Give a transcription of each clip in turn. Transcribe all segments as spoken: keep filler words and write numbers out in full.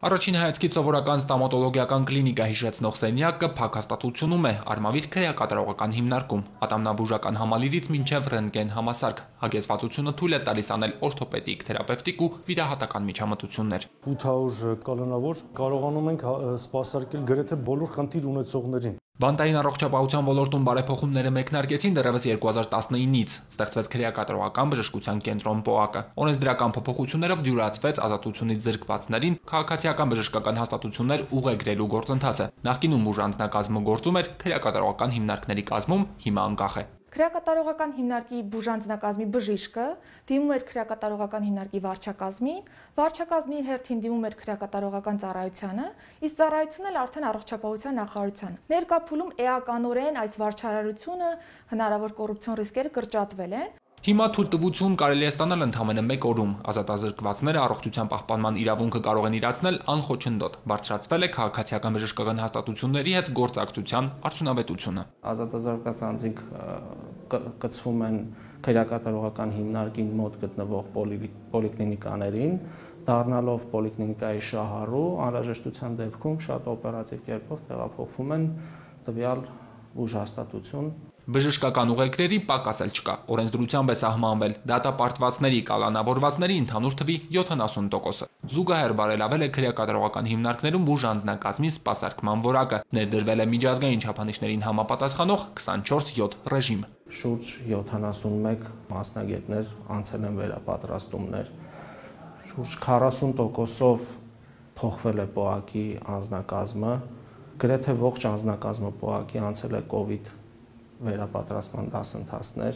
Առաջին հայացքից սովորական ստոմատոլոգիական կլինիկա հիշեցնող սենյակը փակ հաստատությունում է, արմավիր քրեակատարողական հիմնարկում, ատամնաբուժական համալիրից մինչև ռենտգեն համասարք, հագեցվածությունը թույլ է տալիս անել օրթոպեդիկ, թերապևտիկ ու վիրահատական միջամտություններ։ ութ հարյուր կանոնավոր կարողանում ենք սպասարկել գրեթե բոլոր խնդիր ունեցողներին։ Բանտային առողջապահության ոլորտում բարեփոխումները մեկնարկեցին դեռևս երկու հազար տասնինից, ստեղծվեց քրեակատարողական բժշկության կենտրոն ՊՕԱԿ-ը։ Օրենսդրական փոփոխություններով դյուրացվեց ազատությունից զրկվածներին քաղաքացիական բժշկական հաստատություններ ուղեգրելու գործընթացը։ Նախկինում ուժ անձնակազմը գործում էր քրեակատարողական հիմնարկների կազմում, հիմա անկախ է։ Քրեակատարողական հիմնարկի բուժանձնակազմի բժիշկը դիմում էր քրեակատարողական հիմնարկի վարչակազմի, վարչակազմի հերթին դիմում էր քրեակատարողական ծառայությանը, իսկ ծառայությունն էլ արդեն առողջապահության նախարարությանը։ Ներկա փուլում էականորեն այս վարչարարությունը հնարավոր կոռուպցիոն ռիսկերը կրճատվել են։ Հիմա թույլտվություն կարելի է ստանալ ընդամենը մեկ օրում։ Ազատազրկվածները առողջության պահպանման իրավունքը կարող են իրացնել անխոչնդոտ։ Բարձրացվել է քաղաքացիական բժշկական հաստատությունների հետ գործակցության արդյունավետությունը։ Ազատազրկված անձինք կցվում են քրեակատարողական հիմնարկին մոտ գտնվող պոլիկլինիկաներին, դառնալով պոլիկլինիկայի շահառու, անհրաժեշտության դեպքում շատ օպերատիվ կերպով տեղափոխվում են տվյալ բուժհաստատություն։ Բժշկական ուղեկրերի պակաս էլ չկա։ Օրենսդրությամբ է սահմանվել դատապարտվածների կալանավորվածների ընդհանուր թվի յոթանասուն տոկոսը։ Զուգահեռ բարելավել է քրեակատարողական հիմնարկներում բուժ անձնակազմի սպասարկման որակը, ներդրվել է միջազգային չափանիշներին համապատասխանող քսանչորս յոթ ռեժիմ։ Շուրջ յոթանասունմեկ մասնագետներ անցել են վերապատրաստումներ։ Շուրջ քառասուն տոկոսով փոխվել է ՊՕԱԿ-ի անձնակազմը, գրեթե ողջ անձնակազմը ՊՕԱԿ-ի անցել է կովիդ վերապատրաստման դասընթացներ։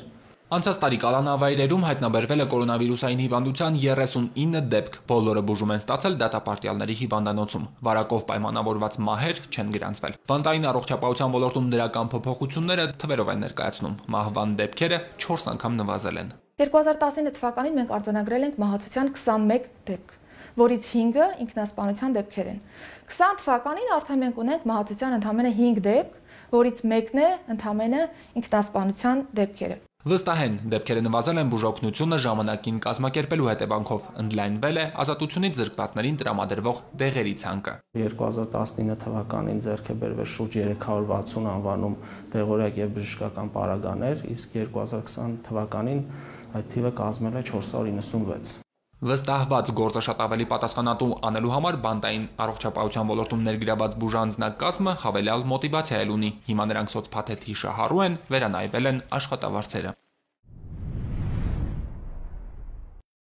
Անցած տարի կալանավայրերում հայտնաբերվել է կորոնավիրուսային հիվանդության երեսունինը դեպք, բոլորը բուժում են ստացել դատապարտյալների հիվանդանոցում։ Վարակով պայմանավորված մահեր չեն գրանցվել։ Բանտային առողջապահության ոլորտում դրական փոփոխությունները թվերով են ներկայացնում։ Մահվան դեպքերը չորս անգամ նվազել են։ երկու հազար տասնինը թվականին մենք արձանագրել ենք մահացության քսանմեկ դեպք, որից հինգը ինքնասպանության դեպքեր են։ քսան թվականին արդեն մենք ունենք մահացության ընդամենը հինգ դեպք, որից մեկն է ընդամենը ինքնասպանության դեպքերը։ Վստահ են, դեպքերը նվազել են բուժօգնությունը ժամանակին կազմակերպելու հետևանքով, ընդլայնվել է ազատությունից զրկվածներին տրամադրվող դեղերի ցանկը։ երկու հազար տասնինը թվականին ձեռք է բերվել շուրջ երեք հարյուր վաթսուն անվանում դեղորայք եւ բժշկական պարագաներ, իսկ երկու հազար քսան թվականին այդ թիվը կազմել է չորս հարյուր իննսունվեց։ Վստահված գործը շատ ավելի պատասխանատու անելու համար բանտային առողջապահության ոլորտում ներգրաված բուժանձնակազմը հավելյալ մոտիվացիա էլ ունի։ Հիմա նրանք սոցփաթեթի շահառու են, վերանայվել են աշխատավարձերը։